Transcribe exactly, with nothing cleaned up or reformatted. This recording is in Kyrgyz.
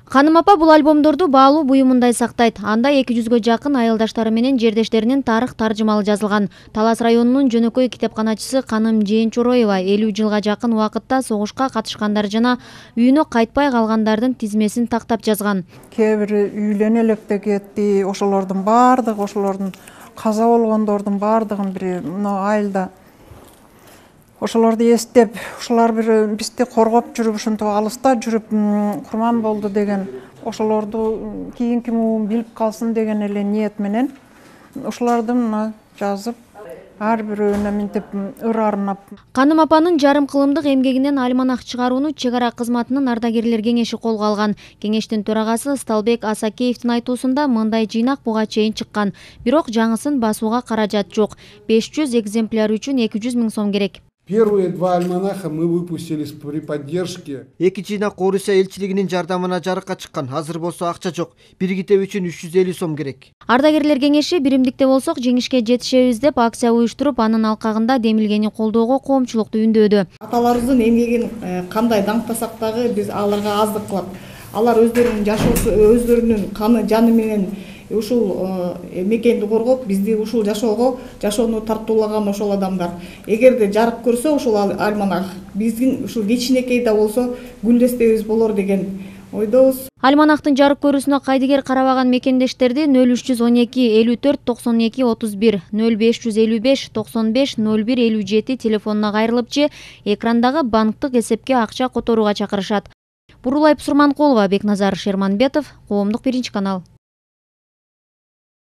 Ханым апа бул альбомдорду баалуу буюмундай сактайт. Анда эки жүзгө жакын айылдаштары менен жердештеринин тарых таржымалы жазылган. Талас районунун жөнөкөй китепканачысы Каным Жээнчороева элүү жылга жакын убакытта согушка катышкандар жана үйүнө кайтпай калгандардын тизмесин тактап жазган. Кээ бири үйлөнө электе кетти, ошолордун баардыгы, ошолордун каза болгондордун баардыгын бир мына айылда ошолорду эстеп, ушулар бир бизди коргоп жүрүп, ушинтип алыста жүрүп курман болду деген, ошолорду кийинки муун билип калсын деген эле ниет менен ушуларды мына жазып, ар бирөөнө мынтип ыр арнап. Каным апанын жарым кылымдык эмгегинен альманах чыгарууну чек ара кызматынын ардагерлер кеңеши колго алган. Кеңештин төрагасы Сталбек Асакеевдин айтуусунда мындай жыйнак буга чейин чыккан. Бирок жаңысын басууга каражат жок. беш жүз экземпляр үчүн эки жүз миң сом керек. Первые два альманаха мы выпустили при поддержке. Эки жыйнак Орусия элчилигинин жардамына жарыкка чыккан. Азыр болсо акча жок. Бир китеп үчүн үч жүз элүү сом керек. Ардагерлер кеңеши биримдикте болсок жеңишке жетишебиз деп акция уюштуруп, анын алкагында демилгени колдоого коомчулукту үндөдү. Аталарыбыздын эмгегин кандай даңктасак дагы биз аларга аздык кылат. Алар өздөрүнүн жашоосу, өздөрүнүн каны, жаны менен ушул мекенди коргоп, бизди ушул жашоого, жашоону тартуулаган ошол адамдар. Эгерде жарык көрсө ушул альманах биздин ушул кичинекей да болсо гүлдестебиз болор деген ойдобуз. Альманахтын жарык көрүүсүнө кайдыгер карабаган мекендештерди нөл үч жүз он эки элүү төрт токсон эки отуз бир, нөл беш жүз элүү беш токсон беш нөл бир элүү жети телефонуна кайрылып же экрандагы банктык эсепке акча которууга чакырышат. Бурулай Сурманкулова, Бекназар Шерманбетов, Коомдук биринчи канал.